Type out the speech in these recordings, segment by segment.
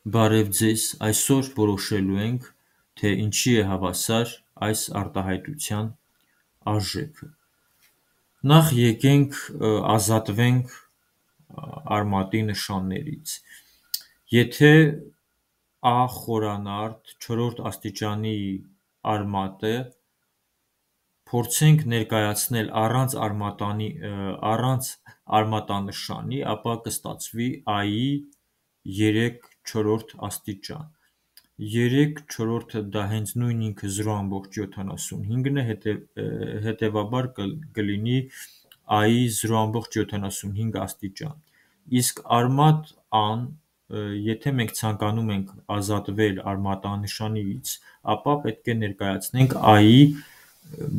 Բարև ձեզ, այսօր որոշելու ենք, թե ինչի է հավասար այս արտահայտության արժեքը։ Նախ եկենք ազատվենք արմատի նշաններից։ Եթե A խորանարդ 4-րդ աստիճանի արմատ է, փորձենք ներկայացնել առանց արմատանշանի, ապա կստացվի I-ի 3/4 աստիճան։ 3/4 դա հենց նույն ինքը 0.75-ն է, հետևաբար կլինի I-ի 0.75 աստիճան։ Իսկ արմատ A-ն, եթե մենք ցանկանում ենք ազատվել արմատանշանից, ապա պետք է ներկայացնենք I-ի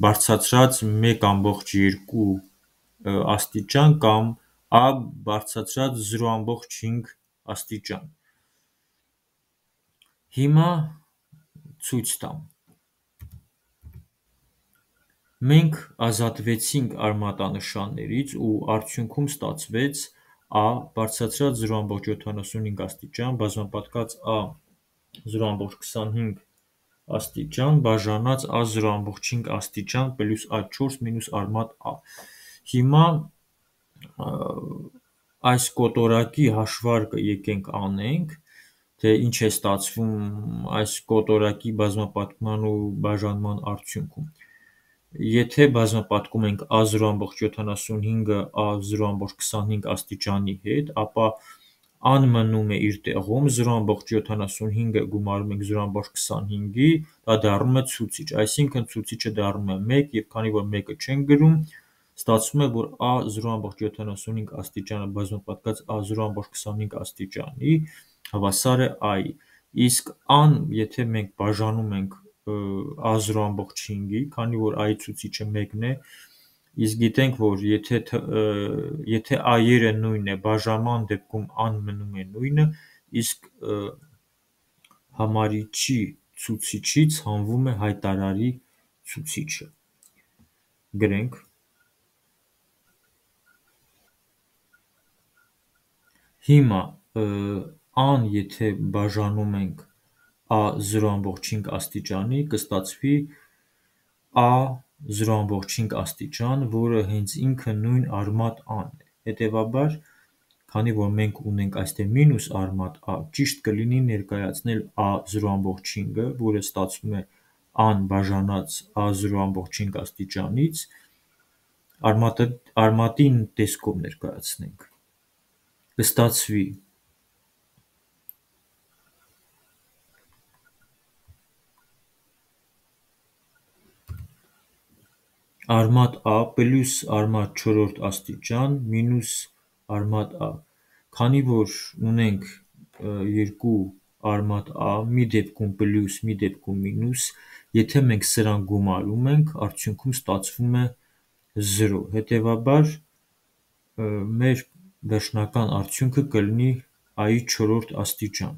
բարձրացրած 1.2 աստիճան կամ A բարձրացրած 0.5 աստիճան։ Հիմա ցույց տամ։ Մենք ազատվեցինք արմատանշաններից ու արդյունքում ստացվեց A բարձրացրած 0.75 աստիճան բազմապատկած A 0.25 աստիճան բաժանած A 0.5 աստիճան պլյուս A4 մինուս արմատ A։ Հիմա այս կոտորակի հաշվարկը եկենք անենք, թե ինչ է ստացվում այս կոտորակի բազմապատկման ու բաժանման արդյունքում։ Եթե բազմապատկում ենք A 0.75-ը A 0.25 աստիճանի հետ, ապա A-ն մնում է իր տեղում, 0.75-ը գումարում ենք 0.25-ի, դա դառնում է ցուցիչ, այսինքն ցուցիչը դառնում է 1 և քանի որ 1-ը չենք գրում, ստացվում է, որ A 0.75 աստիճանը բազմապատկած A 0.25 աստիճանի հավասար է I-ի, իսկ A-ն, եթե մենք բաժանում ենք A 0.5-ի, քանի որ I-ի ցուցիչը 1-ն է, իսկ գիտենք, որ եթե I-երը նույնն է, բաժանման դեպքում A-ն մնում է նույնը, իսկ համարիչի ցուցիչից հանվում է հայտարարի ցուցիչը։ Գրենք. Հիմա A-ն եթե բաժանում ենք A 0.5 աստիճանի, կստացվի A 0.5 աստիճան, որը հենց ինքը նույն արմատ A-ն է։ Հետևաբար, քանի որ մենք ունենք այստեղ մինուս արմատ A, ճիշտ կլինի ներկայացնել A 0.5-ը, որը ստացվում է A-ն բաժանած A 0.5 աստիճանից, արմատի տեսքով ներկայացնենք, կստացվի արմատ A պլյուս արմատ 4-րդ աստիճան մինուս արմատ A։ Քանի որ ունենք երկու արմատ A, մի դեպքում պլյուս, մի դեպքում մինուս, եթե մենք սրանք գումարում ենք, արդյունքում ստացվում է 0, հետևաբար մեր վերջնական արդյունքը կլինի I-ի 4-րդ աստիճան։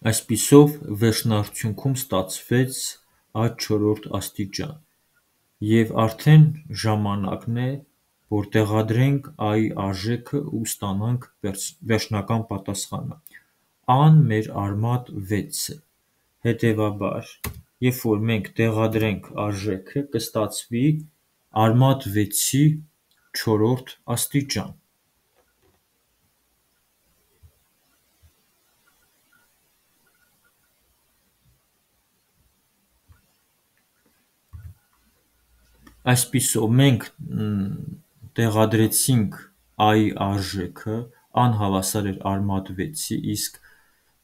Այսպիսով վերջնարդյունքում ստացվեց A 4-րդ աստիճան, և արդեն ժամանակն է, որ տեղադրենք A-ի արժեքը ու ստանանք վերջնական պատասխանը։ A-ն մեր արմատ 6 է, հետևաբար, երբ որ մենք տեղադրենք արժեքը, կստացվի արմատ 6-ի 4-րդ աստիճան։ Այսպիսով մենք տեղադրեցինք A-ի արժեքը, A-ն հավասար էր արմատ 6-ի, իսկ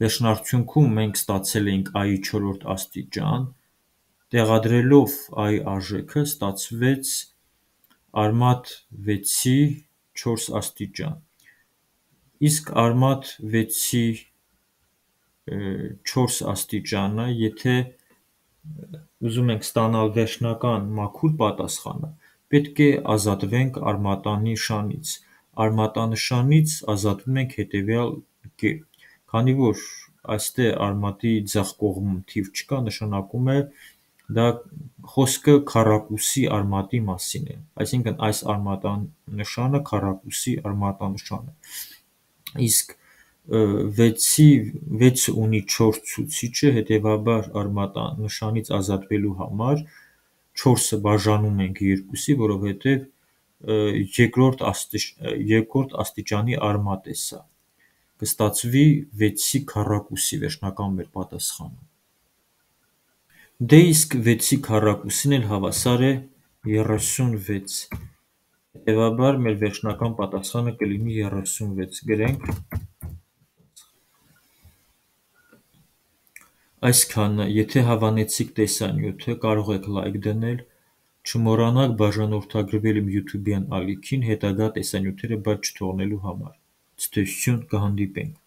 վերջնարդյունքում մենք ստացել էինք A-ի 4-րդ աստիճան, տեղադրելով A-ի արժեքը ստացվեց արմատ 6-ի 4 աստիճան, իսկ արմատ 6-ի 4 աստիճանը, եթե ուզում ենք ստանալ վերջնական մաքուր պատասխանը, պետք է ազատվենք արմատանշանից, արմատանշանից ազատվում ենք հետևյալ կերպ. Քանի որ այստեղ արմատի ձախ կողմում թիվ չկա, նշանակում է դա խոսքը քառակուսի արմատի մասին է, այսինքն այս արմատանշանը քառակուսի արմատանշան է, իսկ 6-ը ունի 4 ցուցիչը, հետևաբար արմատանշանից ազատվելու համար 4-ը բաժանում ենք 2-ի, որովհետև երկրորդ աստիճանի արմատ է սա, կստացվի 6-ի քառակուսի վերջնական մեր պատասխանը։ Դե իսկ 6-ի քառակուսին էլ հավասար է 36, հետևաբար մեր վերջնական պատասխանը կլինի 36, գրենք այսքանը, եթե հավանեցիք տեսանյութը, կարող եք լայք դնել, չմոռանաք բաժանորդագրվել իմ YouTube-յան ալիքին հետագա տեսանյութերը բաց չթողնելու համար, ցտեսություն, կհանդիպենք։